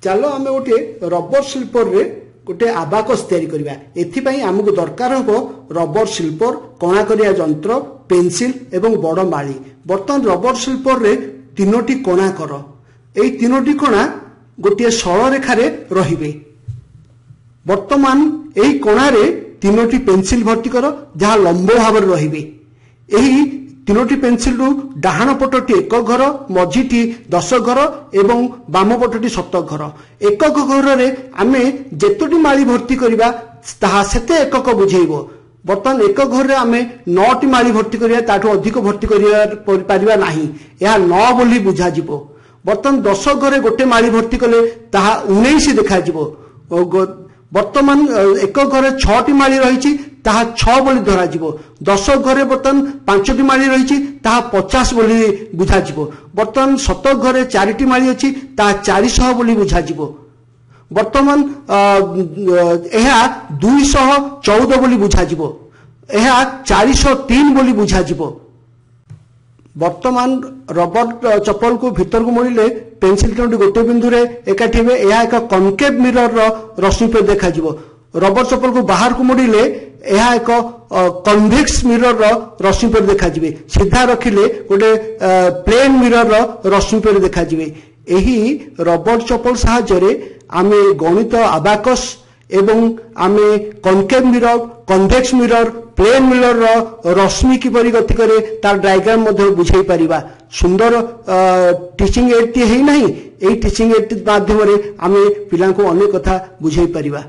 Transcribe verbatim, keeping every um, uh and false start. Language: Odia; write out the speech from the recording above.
ଚାଲ ଆମେ ଗୋଟିଏ ରବର ସ୍ଲିପରରେ ଗୋଟେ ଆବାକସ୍ ତିଆରି କରିବା। ଏଥିପାଇଁ ଆମକୁ ଦରକାର ହେବ ରବର ସ୍ଲିପର, କଣା କରିବା ଯନ୍ତ୍ର, ପେନସିଲ ଏବଂ ବଡ଼ ମାଳି। ବର୍ତ୍ତମାନ ରବର ସ୍ଲିପରରେ ତିନୋଟି କଣା କର। ଏହି ତିନୋଟି କଣା ଗୋଟିଏ ସରଳରେଖାରେ ରହିବେ। ବର୍ତ୍ତମାନ ଏହି କଣାରେ ତିନୋଟି ପେନସିଲ ଭର୍ତ୍ତି କର, ଯାହା ଲମ୍ବ ଭାବରେ ରହିବେ। ଏହି ତିନୋଟି ପେନସିଲରୁ ଡାହାଣ ପଟଟି ଏକ ଘର, ମଝିଟି ଦଶ ଘର ଏବଂ ବାମ ପଟଟି ଶତ ଘର। ଏକକ ଘରରେ ଆମେ ଯେତୋଟି ମାଳି ଭର୍ତ୍ତି କରିବା, ତାହା ସେତେ ଏକକ ବୁଝେଇବ। ବର୍ତ୍ତମାନ ଏକ ଘରରେ ଆମେ ନଅଟି ମାଳି ଭର୍ତ୍ତି କରିବା, ତାଠୁ ଅଧିକ ଭର୍ତ୍ତି କରିବା ପାରିବା ନାହିଁ। ଏହା ନଅ ବୋଲି ବୁଝାଯିବ। ବର୍ତ୍ତମାନ ଦଶ ଘରେ ଗୋଟେ ମାଳି ଭର୍ତ୍ତି କଲେ ତାହା ଉଣେଇଶ ଦେଖାଯିବ। ବର୍ତ୍ତମାନ ଏକ ଘରେ ଛଅଟି ମାଳି ରହିଛି, ତାହା ଛଅ ବୋଲି ଧରାଯିବ। ଦଶ ଘରେ ବର୍ତ୍ତମାନ ପାଞ୍ଚଟି ମାଳି ରହିଛି, ତାହା ପଚାଶ ବୋଲି ବୁଝାଯିବ। ବର୍ତ୍ତମାନ ଶତ ଘରେ ଚାରିଟି ମାଳି ଅଛି, ତାହା ଚାରିଶହ ବୋଲି ବୁଝାଯିବ। ବର୍ତ୍ତମାନ ଏହା ଦୁଇଶହ ଚଉଦ ବୋଲି ବୁଝାଯିବ। ଏହା ଚାରିଶହ ତିନି ବୋଲି ବୁଝାଯିବ। ବର୍ତ୍ତମାନ ରବର ଚପଲକୁ ଭିତରକୁ ମୋଡ଼ିଲେ ପେନସିଲ ତିନୋଟି ଗୋଟିଏ ବିନ୍ଦୁରେ ଏକାଠି ହେବେ। ଏହା ଏକ କନକେଭ୍ ମିରରର ରଶ୍ମି ପରି ଦେଖାଯିବ। ରବର ଚପଲକୁ ବାହାରକୁ ମୋଡ଼ିଲେ ଏହା ଏକ କନଭେକ୍ସ ମିରରର ରଶ୍ମି ପରି ଦେଖାଯିବେ। ସିଧା ରଖିଲେ ଗୋଟେ ପ୍ଲେନ୍ ମିରରର ରଶ୍ମି ପରି ଦେଖାଯିବେ। ଏହି ରବର ଚପଲ ସାହାଯ୍ୟରେ ଆମେ ଗଣିତ ଆବାକସ୍ ଏବଂ ଆମେ କନକେଭ୍ ମିରର, କନଭେକ୍ସ ମିରର, ପ୍ଲେନ୍ ମିରରର ରଶ୍ମି କିପରି ଗତି କରେ, ତାର ଡାଇଗ୍ରାମ ମଧ୍ୟ ବୁଝେଇ ପାରିବା। ସୁନ୍ଦର ଟିଚିଂ ଏଡ୍ଟି ହେଇନାହିଁ? ଏହି ଟିଚିଂ ଏଡ୍ ମାଧ୍ୟମରେ ଆମେ ପିଲାଙ୍କୁ ଅନେକ କଥା ବୁଝେଇ ପାରିବା।